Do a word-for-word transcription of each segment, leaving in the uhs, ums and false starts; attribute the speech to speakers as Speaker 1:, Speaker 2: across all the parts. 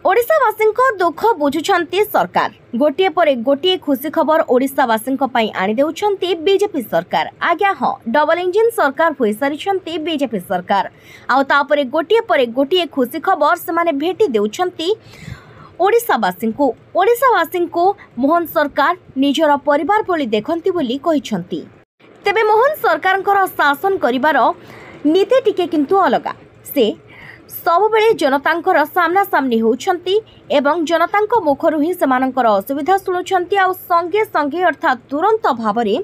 Speaker 1: ଓଡ଼ିଶାବାସୀଙ୍କ ଦୁଃଖ ବୁଝୁଛନ୍ତି ସରକାର। ଗୋଟିଏ ପରେ ଗୋଟିଏ ଖୁସି ଖବର ଓଡ଼ିଶାବାସୀଙ୍କ ପାଇଁ ଆଣିଦେଉଛନ୍ତି ବିଜେପି ସରକାର। ଆଜ୍ଞା ହଁ, ଡବଲ ଇଞ୍ଜିନ୍ ସରକାର ହୋଇସାରିଛନ୍ତି ବିଜେପି ସରକାର, ଆଉ ତାପରେ ଗୋଟିଏ ପରେ ଗୋଟିଏ ଖୁସି ଖବର ସେମାନେ ଭେଟି ଦେଉଛନ୍ତି ଓଡ଼ିଶାବାସୀଙ୍କୁ। ଓଡ଼ିଶାବାସୀଙ୍କୁ ମୋହନ ସରକାର ନିଜର ପରିବାର ଭଳି ଦେଖନ୍ତି ବୋଲି କହିଛନ୍ତି। ତେବେ ମୋହନ ସରକାରଙ୍କର ଶାସନ କରିବାର ନୀତି ଟିକେ କିନ୍ତୁ ଅଲଗା। ସେ ସବୁବେଳେ ଜନତାଙ୍କର ସାମ୍ନାସାମ୍ନି ହେଉଛନ୍ତି ଏବଂ ଜନତାଙ୍କ ମୁଖରୁ ହିଁ ସେମାନଙ୍କର ଅସୁବିଧା ଶୁଣୁଛନ୍ତି, ଆଉ ସଙ୍ଗେ ସଙ୍ଗେ ଅର୍ଥାତ୍ ତୁରନ୍ତ ଭାବରେ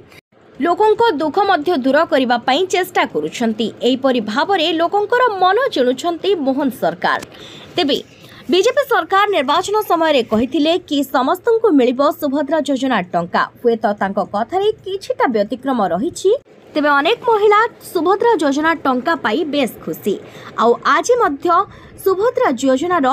Speaker 1: ଲୋକଙ୍କ ଦୁଃଖ ମଧ୍ୟ ଦୂର କରିବା ପାଇଁ ଚେଷ୍ଟା କରୁଛନ୍ତି। ଏହିପରି ଭାବରେ ଲୋକଙ୍କର ମନ ଜିଣୁଛନ୍ତି ମୋହନ ସରକାର। ତେବେ ବିଜେପି ସରକାର ନିର୍ବାଚନ ସମୟରେ କହିଥିଲେ କି ସମସ୍ତଙ୍କୁ ମିଳିବ ସୁଭଦ୍ରା ଯୋଜନା ଟଙ୍କା। ହୁଏତ ତାଙ୍କ କଥାରେ କିଛିଟା ବ୍ୟତିକ୍ରମ ରହିଛି। ତେବେ ଅନେକ ମହିଳା ସୁଭଦ୍ରା ଯୋଜନା ଟଙ୍କା ପାଇ ବେଶ୍ ଖୁସି, ଆଉ ଆଜି ମଧ୍ୟ ସୁଭଦ୍ରା ଯୋଜନାର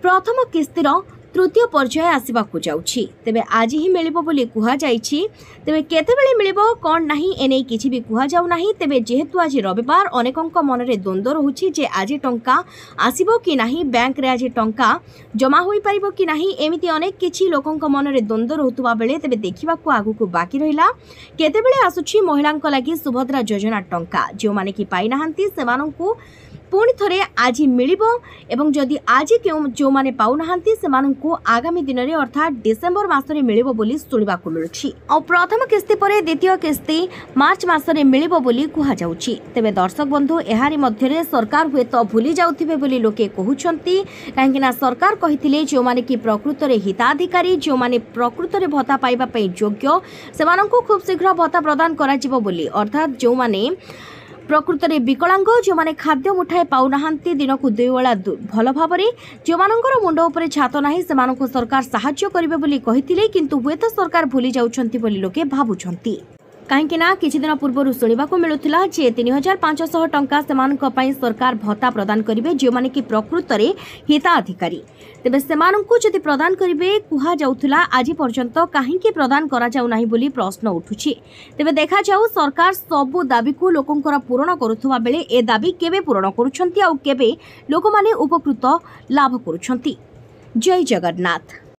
Speaker 1: ପ୍ରଥମ କିସ୍ତିର ତୃତୀୟ ପର୍ଯ୍ୟାୟ ଆସିବାକୁ ଯାଉଛି। ତେବେ ଆଜି ହିଁ ମିଳିବ ବୋଲି କୁହାଯାଇଛି। ତେବେ କେତେବେଳେ ମିଳିବ କ'ଣ ନାହିଁ ଏନେଇ କିଛି ବି କୁହାଯାଉ ନାହିଁ। ତେବେ ଯେହେତୁ ଆଜି ରବିବାର, ଅନେକଙ୍କ ମନରେ ଦ୍ୱନ୍ଦ୍ୱ ରହୁଛି ଯେ ଆଜି ଟଙ୍କା ଆସିବ କି ନାହିଁ, ବ୍ୟାଙ୍କରେ ଆଜି ଟଙ୍କା ଜମା ହୋଇପାରିବ କି ନାହିଁ, ଏମିତି ଅନେକ କିଛି ଲୋକଙ୍କ ମନରେ ଦ୍ୱନ୍ଦ୍ୱ ରହୁଥିବା ବେଳେ ତେବେ ଦେଖିବାକୁ ଆଗକୁ ବାକି ରହିଲା କେତେବେଳେ ଆସୁଛି ମହିଳାଙ୍କ ଲାଗି ସୁଭଦ୍ରା ଯୋଜନା ଟଙ୍କା। ଯେଉଁମାନେ କି ପାଇନାହାନ୍ତି ସେମାନଙ୍କୁ ପୁଣି ଥରେ ଆଜି ମିଳିବ, ଏବଂ ଯଦି ଆଜି କେଉଁ ଯେଉଁମାନେ ପାଉନାହାନ୍ତି ସେମାନଙ୍କୁ ଆଗାମୀ ଦିନରେ ଅର୍ଥାତ୍ ଡିସେମ୍ବର ମାସରେ ମିଳିବ ବୋଲି ଶୁଣିବାକୁ ମିଳୁଛି। ଆଉ ପ୍ରଥମ କିସ୍ତି ପରେ ଦ୍ୱିତୀୟ କିସ୍ତି ମାର୍ଚ୍ଚ ମାସରେ ମିଳିବ ବୋଲି କୁହାଯାଉଛି। ତେବେ ଦର୍ଶକ ବନ୍ଧୁ, ଏହାରି ମଧ୍ୟରେ ସରକାର ହୁଏତ ଭୁଲି ଯାଉଥିବେ ବୋଲି ଲୋକେ କହୁଛନ୍ତି, କାହିଁକିନା ସରକାର କହିଥିଲେ ଯେଉଁମାନେ କି ପ୍ରକୃତରେ ହିତାଧିକାରୀ, ଯେଉଁମାନେ ପ୍ରକୃତରେ ଭତ୍ତା ପାଇବା ପାଇଁ ଯୋଗ୍ୟ, ସେମାନଙ୍କୁ ଖୁବ୍ ଶୀଘ୍ର ଭତ୍ତା ପ୍ରଦାନ କରାଯିବ ବୋଲି। ଅର୍ଥାତ୍ ଯେଉଁମାନେ ପ୍ରକୃତରେ ବିକଳାଙ୍ଗ, ଯେଉଁମାନେ ଖାଦ୍ୟ ମୁଠାଏ ପାଉନାହାନ୍ତି ଦିନକୁ ଦୁଇ ବେଳା ଭଲ ଭାବରେ, ଯେଉଁମାନଙ୍କର ମୁଣ୍ଡ ଉପରେ ଛାତ ନାହିଁ, ସେମାନଙ୍କୁ ସରକାର ସାହାଯ୍ୟ କରିବେ ବୋଲି କହିଥିଲେ। କିନ୍ତୁ ହୁଏତ ସରକାର ଭୁଲି ଯାଉଛନ୍ତି ବୋଲି ଲୋକେ ଭାବୁଛନ୍ତି, କାହିଁକି ନା କିଛି ଦିନ ପୂର୍ବରୁ ଶୁଣିବାକୁ ମିଳୁଥିଲା ଯେ ତିନି ହଜାର ପାଞ୍ଚଶହ ଟଙ୍କା ସେମାନଙ୍କ ପାଇଁ ସରକାର ଭତ୍ତା ପ୍ରଦାନ କରିବେ ଯେଉଁମାନେ କି ପ୍ରକୃତରେ ହିତାଧିକାରୀ। ତେବେ ସେମାନଙ୍କୁ ଯଦି ପ୍ରଦାନ କରିବେ କୁହାଯାଉଥିଲା, ଆଜି ପର୍ଯ୍ୟନ୍ତ କାହିଁକି ପ୍ରଦାନ କରାଯାଉ ନାହିଁ ବୋଲି ପ୍ରଶ୍ନ ଉଠୁଛି। ତେବେ ଦେଖାଯାଉ ସରକାର ସବୁ ଦାବିକୁ ଲୋକଙ୍କର ପୂରଣ କରୁଥିବା ବେଳେ ଏ ଦାବି କେବେ ପୂରଣ କରୁଛନ୍ତି ଆଉ କେବେ ଲୋକମାନେ ଉପକୃତ ଲାଭ କରୁଛନ୍ତି। ଜୟ ଜଗନ୍ନାଥ।